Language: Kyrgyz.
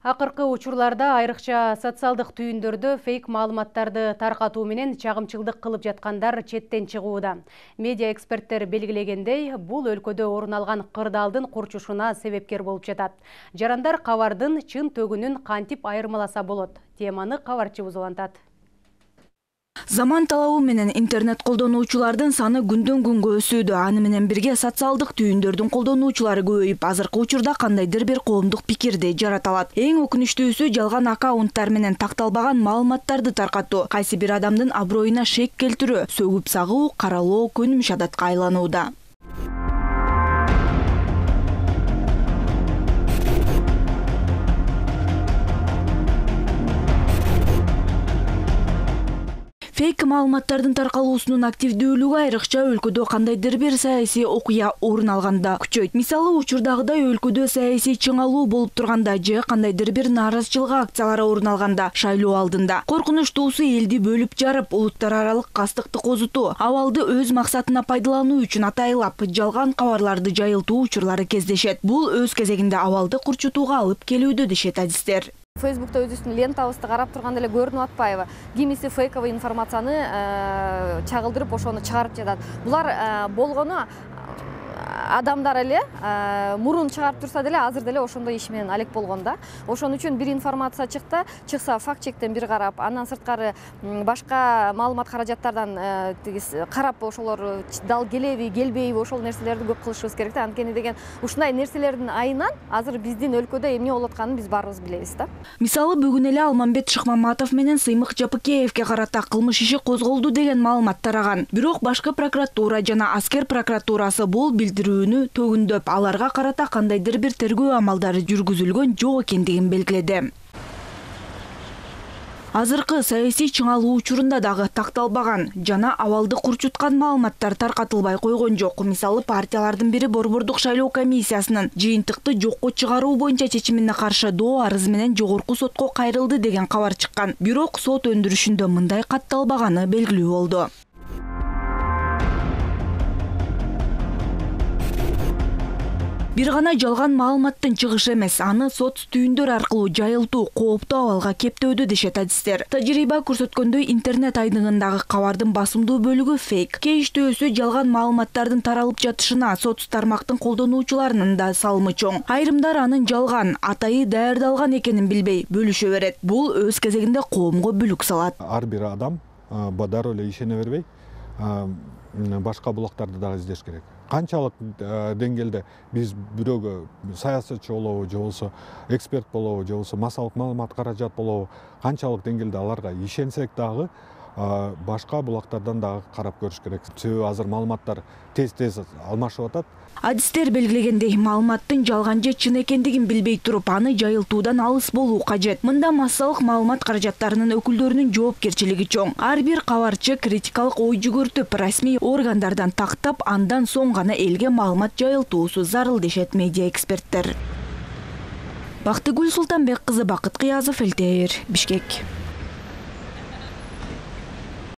Акыркы учурларда айрыкча социалдык түйүндөрдө фейк маалыматтарды таркатуу менен чагымчылдык кылып жаткандар четтен чыгууда. Медиа эксперттер белгилегендей, бул өлкөдө орун алган кырдаалдын курчушуна себепкер болуп жатат. Жарандар кабардын чын төгүнүн кантип айырмаласа болот? Теманы кабарчыбыз улантат. Заман талабы менен интернет колдонуучулардын саны күндөн күнгө өсүүдө. Аны менен бирге социалдык түйүндөрдүн колдонуучулары көбөйүп, азыркы учурда кандайдыр бир коомдук пикирди жарата алат. Эң өкүнүчтүүсү жалган аккаунттар менен такталбаган маалыматтарды таркатуу, кайсы бир адамдын аброюна шек келтирүү, сөгүп сагуу, каралоо көнүмүш адатка айланууда. Фейк маалыматтардын таркалуусунун активдүүлүгү айрыкча өлкөдө кандайдыр бир саясий окуя орун алганда күчөйт. Мисалы, учурдагыдай өлкөдө саясий чыңалуу болуп турганда же кандайдыр бир нааразычылык акциялары орун алганда, шайлоо алдында. Коркунучтуусу элди бөлүп жарып, улуттар аралык кастыкты козутуу, абалды өз максатына пайдалануу үчүн атайлап, жалган кабарларды жайылтуу учурлары кездешет. Бул өз кезегинде абалды курчутууга алып келүүдө дешет адистер. Фейсбукта өзүбүздүн лентабызды карап турганда эле көрүнүп атпайбы? Кимиси фейковый информацияны чагылдырып ошону чыгарып жатат. Булар болгону адамдар эле мурун чыгарып турса деле азыр деле ошондой иш менен алек болгон да. Ошон үчүн бир информация чыкса факт чектен бир карап, андан сырткары башка маалымат каражаттардан карап ошолор дал келеби, келбейби, ошол нерселерди көп кылышыбыз керек да. Анткени деген ушундай нерселердин айынан азыр биздин өлкөдө эмне болуп атканын биз баарыбыз билебиз да. Мисалы, бүгүн эле Алмамбет Шыкмаматов менен Сыймык Жапыкеевке карата кылмыш иши козголду деген маалымат тараган. Бирок башкы прокуратура жана аскер прокуратурасы бул билдирүүнү төгүндөп, аларга карата кандайдыр бир тергөө амалдары жүргүзүлгөн жок экендигин белгиледи. Азыркы саясий чыңалуу учурунда дагы такталбаган жана абалды курчуткан маалыматтар таркатылбай койгон жок. Мисалы, партиялардын бири Борбордук шайлоо комиссиясынын жыйынтыкты жокко чыгаруу боюнча чечимине каршы доо арыз менен жогорку сотко кайрылды деген кабар чыккан. Бирок сот өндүрүшүндө мындай катталбаганы белгилүү болду. Бир гана жалган маалыматтын чыгышы эмес, аны соц түйүндөр аркылуу жайылтуу кооптуу абалга кептөөдө дешет адистер. Тажрыйба көрсөткөндөй, интернет айдыгындагы кабардын басымдуу бөлүгү фейк. Кээ иштөөсү жалган маалыматтардын таралып жатышына соц тармактын колдонуучуларынын да салымы чоң. Айрымдар анын жалган, атайы даярдалган экенин билбей бөлүшө берет. Бул өз кезегинде коомго бүлүк салат. Ар бир адам дароо эле ишене бербей, башка булактарды дагы издеш керек. Канчалык деңгээлде биз бирөөгө саясатчы болобу, же болбосо эксперт болобу, же болбосо массалык маалымат каражат болобу, канчалык деңгээлде аларга ишенсек дагы башка булактардан дагы карап көрүш керек. Себеби азыр маалыматтар тез алмашып атат. Адистер белгилегендей, маалыматтын жалган же чын экендигин билбей туруп, аны жайылтуудан алыс болуу кажет. Мында массалык маалымат каражаттарынын өкүлдөрүнүн жоопкерчилиги чоң. Ар бир кабарчы критикалык ой жүгүртүп, расмий органдардан тактап, андан соң гана элге маалымат жайылтуусу зарыл дешет медиа эксперттер. Бактыгүл Султанбек кызы, Бакыт Кыязов, ЛТР, Бишкек.